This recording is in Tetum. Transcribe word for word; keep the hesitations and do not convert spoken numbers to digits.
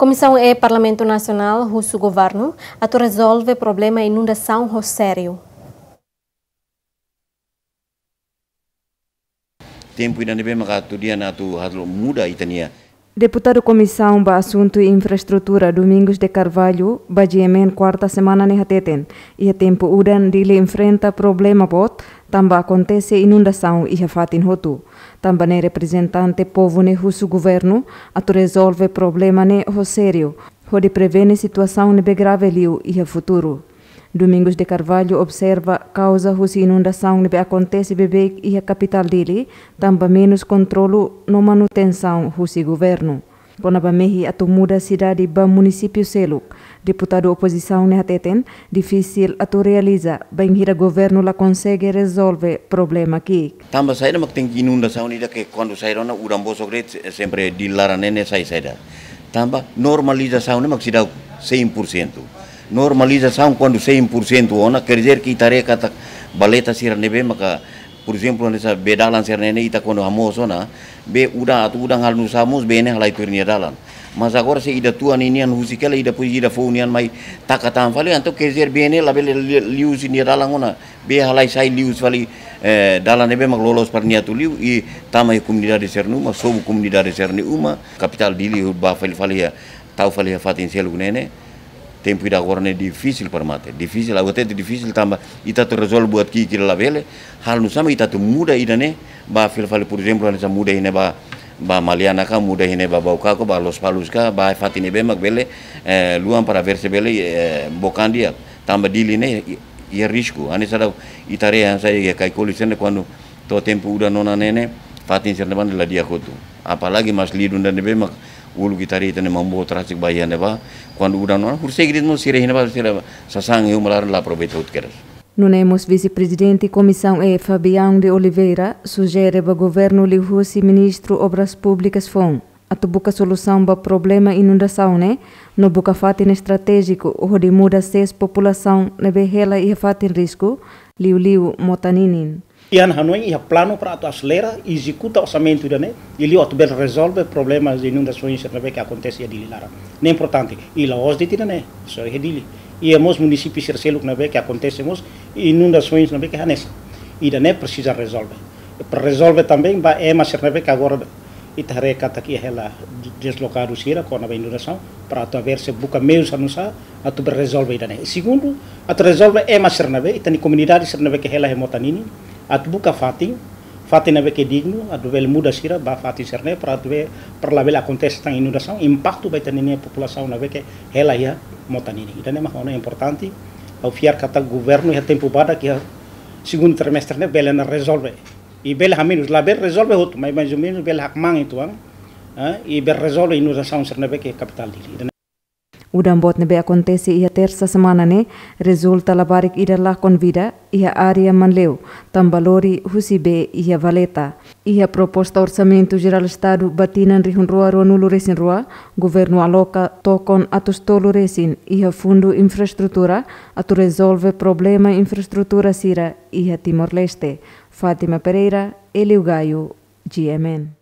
Komisaun E Parlamentu Nasionál husu governu atu rezolve problema inundasaun ho sériu. Tempu ida ne'ebé maka atu dia na atu halo muda ita-nia. Deputadu Komisaun ba Asuntu Infraestrutura Domingos de Carvalho ba G M N kuarta semana ne'e hateten, iha tempu udan Dili enfrenta problema boot tanba akontese inundasaun iha fatin hotu. Tanba ne'e reprezentante povu ne'e husu governu atu rezolve problema ne'e ho sériu, hodi prevene situasaun ne'ebé grave liu iha futuru. Domingos de Carvalho observa kauza husi inundasaun ne'ebé akontese beibeik iha kapitál Dili, tanba menus kontrolu no manutensaun husi governu. Kona-ba mehi atu muda sidade ba munisípiu seluk, deputadu opozisaun ne'e hateten difisil atu realiza bainhira governu la konsege rezolve problema ki'ik. Tanba saida mak tenke inundasaun ida ke kuandu sai rona udan bosok de'it, sempre Dili laran ne'e sai saida. Tanba normalizasaun ne'e mak seidauk cem por cento. Normalizasaun kuandu cem por cento ona, quer dizer que ita haree katak valeta sira ne'ebé maka, por ezemplu, hanesan bee dalan sira ne'e ita kuandu hamoos ona, bee udan atu udan halo nusá mós bee ne'e halai tuir nia dalan. Mas agora se ida tua ninian husik hela, ida depois ida foun nian mai taka tan fali, entaun quer dizer bee ne'e labele li-, liu husi nia dalan ona, bee halai sai liu husi fali, eh, dalan ne'ebé mak loloos para nia atu liu, i tama iha komunidade sira-nia uma, sobu komunidade sira-nia uma, kapitál Dili bá fali fali iha, tau fali iha fatin seluk ne'e ne'e, tempu ida agora ne'e difisil para mate. Difisil, ha'u hatete difisil tanba ita atu rezolve buat ki'ik labele, halo nusá mak ita atu muda ida ne'e, bá fila fali, por ezemplu, hanesan muda iha ne'e bá, bá Maliana ka, muda iha ne'e bá Baucau ka, bá Lospalos ka, bá fatin ne'ebé mak bele, eh, luan para ver se bele, eh, book an di'ak. Tanba Dili ne'e, i-, iha risku. Hanesan daudaun ita haree hanesan iha Caicoli sira-ne'e kuandu to'o tempu udan ona ne'e ne'e, fatin sira-ne'ebá la di'ak hotu. Apalagi Maslidun ida ne'ebé mak uluk ita haree ita-nia maun-boot rasik bá iha ne'ebá, kuandu udan ona, horiseik de'it mós sira iha ne'ebá, sira sasán iha uma laran la aproveita hotu kedas. Nune'e mós Vise-Prezidente Komisaun E Fabião de Oliveira sujere ba governu liuhusi Ministru Obras Públikas foun atu buka solusaun ba problema inundasaun ne'e, no buka fatin estratéjiku hodi muda sees populasaun ne'ebé hela iha fatin risku, liuliu mota ninin. Iha hanoin iha planu para atu aselera, ezekuta orsamentu ida ne'e, i liu atu bele rezolve problema de inundasaun sira ne'ebé ke akontese iha Dili laran. Ne'e importante, i la'ós de'it ida ne'e, só iha Dili. Iha mós munisípiu sira seluk ne'ebé ke akontese mós inundasaun ne'ebé ke hanesan. Ida ne'e presiza rezolve. Para rezolve também ba ema sira ne'ebé ke agora ita haree katak iha hela deslokadu sira kona-ba inundasaun, para atu haver se buka meius hanusa atu bele rezolve ida ne'e. Segundu, atu rezolve ema sira ne'ebé, ita-nia komunidade sira ne'ebé ke hela iha mota ninin, atu buka fatin, fatin ne'ebé ke dignu, atu bele muda sira ba fatin sira ne'e, para atu be-, para labele akontese tan inundasaun, impaktu ba ita-nia populasaun ne'ebé ke hela iha mota ninin. Ida ne'e mak ona importante, ha'u fiar katak governu iha tempu badak iha segundu trimestre ne'e bele ona rezolve. I bele hamenus, labele rezolve hotu, mas mais ou menos bele hakmaan uitoan, eh, i bele rezolve inundasaun sira ne'ebé ke kapitál Dili. Udan boot ne'ebé akontese iha tersa semana ne'e, rezulta labarik ida lakon vida iha área Manleu, tanba lori husi bee iha valeta. Iha proposta Orsamentu Jerál Estadu ba tinan rihun rua ruanulu resin rua, governu aloka tokon atus tolu resin iha Fundu Infraestrutura atu rezolve problema infraestrutura sira iha Timor-Leste. Fátima Pereira, Elio Gaio, G M N.